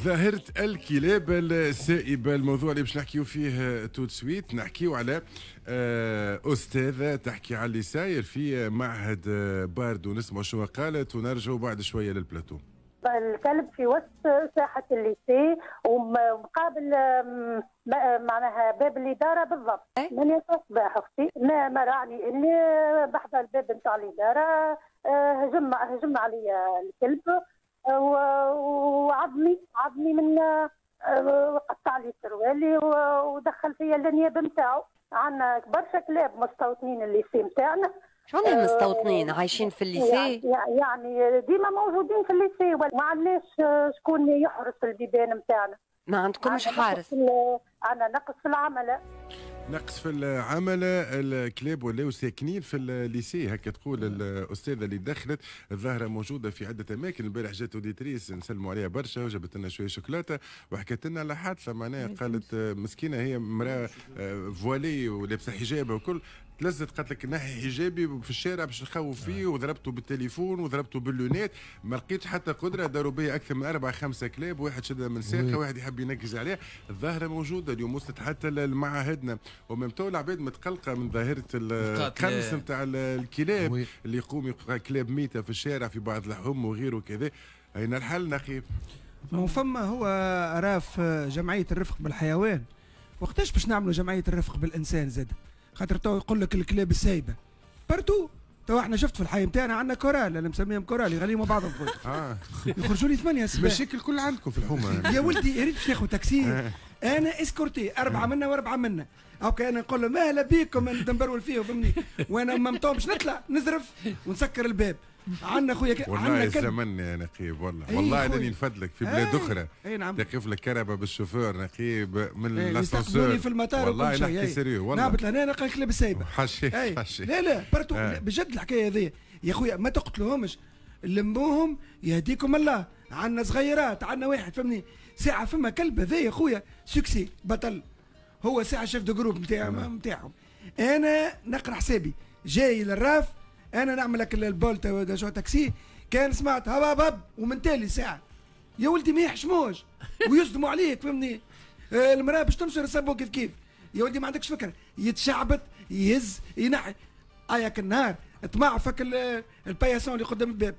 ظاهرة الكلاب السائبة، الموضوع اللي باش نحكيو فيه tout de suite. نحكيو على أستاذة تحكي على اللي ساير في معهد باردو، نسمع شو قالت ونرجعوا بعد شوية للبلاتو. الكلب في وسط ساحة ال lycée ومقابل معناها باب الإدارة بالضبط. من الصباح أختي ما رعني اللي بحذا الباب نتاع الإدارة، هجم علي الكلب وعضني عضني من قطع لي سروالي ودخل فيا الانياب نتاعو. عندنا برشا كلاب مستوطنين ال lycée نتاعنا. شو المستوطنين عايشين في ال lycée؟ يعني ديما موجودين في ال lycée، ما عندناش شكون يحرس البيبان نتاعنا. ما عندكمش حارس؟ عندنا نقص في العملة. نقص في العملة، الكلاب ولاو ساكنين في ال lycée، هكا تقول الأستاذة اللي دخلت. الظاهرة موجودة في عدة أماكن. البارح جات auditrice نسلموا عليها برشا وجابت لنا شوية شوكولاتة وحكت لنا على حادثة، معناها قالت مسكينة هي امرأة voilée ولابسة حجابها وكل، تلزت قالت لك نحي حجابي في الشارع باش نخوف فيه، وضربته بالتليفون وضربته بال lunettes، ما لقيتش حتى قدره، داروا بيا اكثر من 4 5 كلاب، واحد شدها من ساقه، واحد يحب ينقز عليه. الظاهرة موجودة اليوم، وصلت حتى لمعاهدنا، و même temps العباد متقلقه من ظاهره القنص نتاع الكلاب اللي يقوم يلقى كلاب ميته في الشارع في بعض الحوم وغيره كذا. اين الحل نقيب؟ فما هو راف جمعية الرفق بالحيوان، وقتاش باش نعملوا جمعية الرفق بالانسان زاد؟ خاطر تو يقول لك الكلاب السايبه partout. تو احنا شفت في الحي نتاعنا عندنا كورال، انا مسميهم كورال، يغنيوا مع بعضهم. يخرجوا لي 8 الصباح. مشاكل كل عندكم في الحومه. يا ولدي يا ريت باش ناخذ تاكسي، انا escorté اربعة منا واربعة منا، okay انا نقول له مهلا بيكم، نبرول فيه فهمني، وانا même temps باش نطلع نزرف ونسكر الباب. عندنا خويا والله الزمن يا نقيب، والله إيه والله انني نفدلك في بلاد اخرى. اي نعم. تقف لك كرهبة بالشوفور نقيب من l'ascenseur في المطار. والله نحكي sérieux والله. نهبط لهنا نلقى الكلاب السايبه. حشي حشي. لا لا partout بجد الحكاية هذه يا خويا، ما تقتلوهمش، لموهم يهديكم الله. عندنا صغيرات، عندنا واحد فهمني ساعة فما كلب هذا يا خويا succès بطل، هو ساعة chef de groupe نتاعهم. انا نقرا حسابي جاي للراف، انا نعمل لك البولت شو تاكسي، كان سمعت هب هب ومن تالي ساعة يا ولدي ما يحشموش ويصدموا عليك فهمني. المراة باش تنشر سبو كيف كيف يا ولدي، ما عندكش فكره، يتشعبط يهز ينحي اياك النهار طمع فك ال paillasson اللي قدام الباب،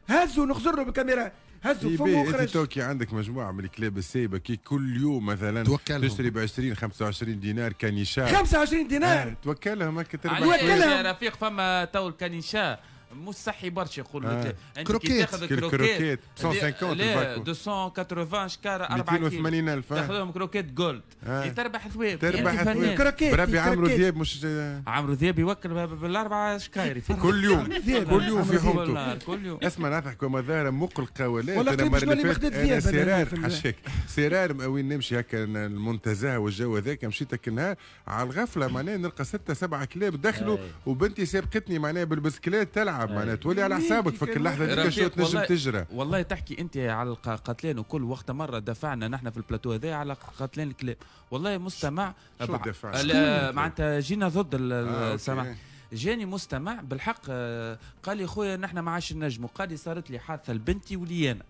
هزوا نخزر له بالكاميرا، هزوا فمه وخرج. انت توكي عندك مجموعة من الكلاب السايبه، كي كل يوم مثلا توكلهم. تشتري ب 20 25 دينار caniche. 25 دينار. توكلهم هكا تربح. توكلهم يا رفيق. فما تو ال caniche مش صحي برشا، يقول لك انت كي تاخذ croquettes 150. لا 280 شكاره 4 كيلو. 280 الف. تاخذهم croquettes Gold تربح ثواب. تربح ثواب بربي. عمرو دياب مش عمرو دياب يوكل بالاربعة شكاير. كل يوم كل يوم في حومته. كل يوم. اسمع نضحك وما ظاهره مقلقة ولا انا المرة اللي فاتت انا سرار حشاك سرار وين نمشي هكا المنتزه والجو هذاك، مشيت هكا النهار على الغفلة معناها نلقى ستة سبعة كلاب دخلوا وبنتي سابقتني معناها بالبسكليت تلعب، معناها تولي على حسابك فك اللحظة ديك شو تنجم تجرى. والله تحكي انت على القتلان وكل وقت، مرة دفعنا نحن في البلاتو هذا على قتلان الكلاب، والله مستمع شو دفع؟ معناتها جينا ضد السماع. جاني مستمع بالحق قال لي خويا نحن ما عادش نجموا، قال لي صارت لي حادثه لبنتي ولي انا.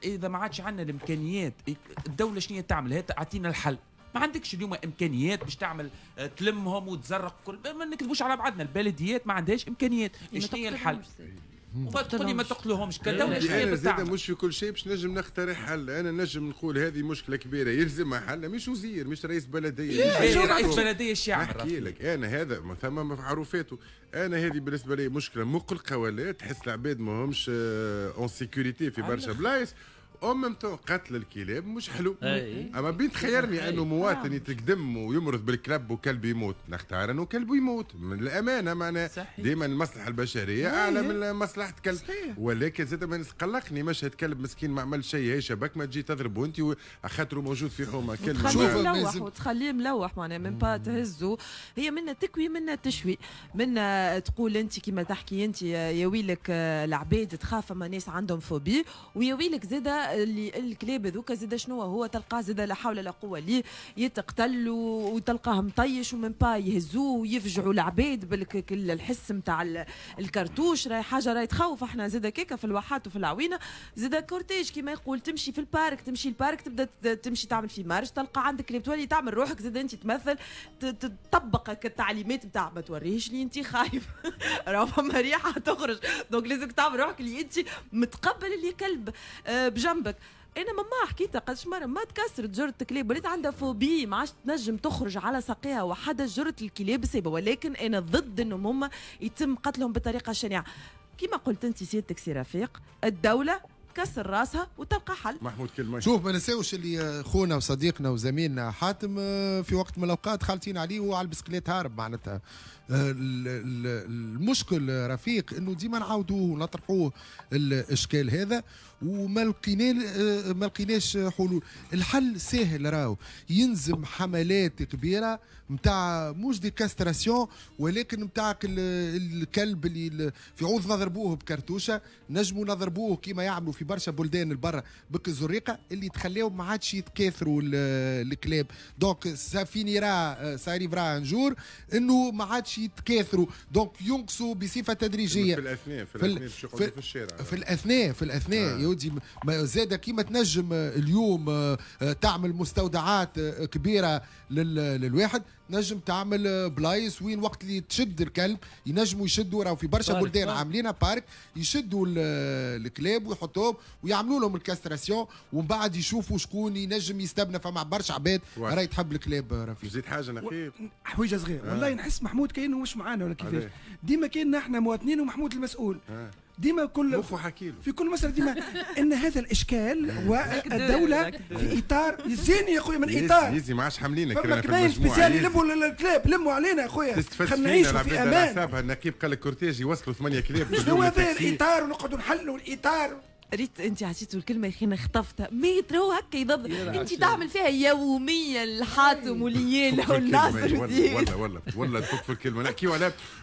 اذا ما عادش عندنا الامكانيات، الدولة شنو تعمل؟ هات اعطينا الحل. ما عندكش اليوم امكانيات باش تعمل تلمهم وتزرق كل، ما نكذبوش على بعضنا، البلديات ما عندهاش امكانيات. شنو هي الحل؟ وما تقولي ما تقتلوهمش كدولة شنو هي زاد مش في كل شيء باش نجم نقترح حل، انا نجم نقول هذه مشكلة كبيرة يلزمها حل، مش وزير مش رئيس بلديه. مش رئيس بلديه الشعب. نحكي لك انا هذا ثم معروفاته، انا هذه بالنسبة لي مشكلة مقلقة ولا تحس العباد ما همش en sécurité في برشا بلايص. en même temps قتل الكلاب مش حلو. اما بين تخيرني انه مواطن يتقدم ويمرض بالكلب وكلب يموت، نختار انه كلب يموت من الامانه، معناها ديما المصلحة البشرية اعلى من مصلحة كلب. ولكن زاد ما قلقني مشهد كلب مسكين ما عمل شيء، هي شبك ما تجي تضرب وانت خاطره موجود في حومه كلب. تخليه ملوح وتخليه ملوح معناها même pas تهزه، هي منا تكوي منا تشوي منا تقول انت كما تحكي انت يا ويلك العباد تخاف، فما ناس عندهم phobie، ويا ويلك زاده اللي الكلاب هذوك زاد شنو هو تلقاه زاد لا حول لا قوة ليه، يتقتل وتلقاه مطيش و même pas يهزوه ويفجعوا العباد بالك الحس نتاع الكرتوش، راهي حاجة راهي تخوف. احنا زاد كيكا في الواحات وفي العوينة زاد cortège كيما يقول، تمشي في ال parc، تمشي ال parc تبدا تمشي تعمل في marche، تلقى عندك كلاب، تولي تعمل روحك زاد انت تمثل تطبق التعليمات نتاع ما توريهش لي انت خايف راهو فما ريحه تخرج، donc لازمك تعمل روحك اللي انت متقبل اللي كلب بجنبك. انا ماما حكيتها قداش مرة، ما تكسرت جرة الكلاب، ولات عندها phobie، ما عادش تنجم تخرج على ساقيها وحدها جرة الكلاب سايبه. ولكن انا ضد انهم هما يتم قتلهم بطريقة شنيعه كما قلت انت سيادتك سي رفيق. الدولة تكسر راسها وتلقى حل. محمود كلمه. شوف، ما نساوش اللي خونا وصديقنا وزميلنا حاتم في وقت من الاوقات خالطين عليه وعلى البسكليت هارب. معناتها المشكل رفيق انه ديما نعاودوه ونطرحوه الاشكال هذا وما لقينا ما لقيناش حلول. الحل سهل راهو، يلزم حملات كبيرة نتاع مش des castrations ولكن نتاع الكلب اللي في عوض نضربوه بكرتوشه نجموا نضربوه كيما يعملوا في برشا بلدان البرة بك اللي تخليهم ما عادش يتكاثروا الكلاب. donc ça finira، ça arrivera un jour انه ما عادش يتكاثروا، donc ينقصوا بصفة تدريجيه. في الاثناء في الشارع. في الاثناء يا ودي زاد كيما تنجم اليوم تعمل مستودعات كبيرة للواحد، نجم تعمل بلايص وين وقت اللي تشد الكلب ينجموا يشدوا. راهو في برشا بلدان عاملينها parc، يشدوا الكلاب ويحطوهم ويعملوا لهم ال castration ومن بعد يشوفوا شكون ينجم يستبنى. فما برشا عباد راهي تحب الكلاب رفيق. زيد حاجة نخيب. حويجه صغيره. والله نحس محمود كاينه مش معانا ولا كيفاش، ديما كاين احنا مواطنين ومحمود المسؤول. ديما كل مخه حكيله. في كل مسألة ديما ان هذا الاشكال والدولة في اطار يزيني يا خويا من اطار يزي ما عادش حاملينك. فما كمين spécial يلموا الكلاب، لموا علينا يا خويا، خلينا نعيشوا في امان. النقيب قال لك cortège يوصلوا ثمانية كلاب. شنو هذا الاطار ونقعدوا نحلوا الاطار؟ ريت انت عطيته الكلمة يا اخي خطفتها مترو هكا يضب انت تعمل فيها يوميا الحاتم وليال والناصر. والله والله والله تفك في الكلمه، نحكيو على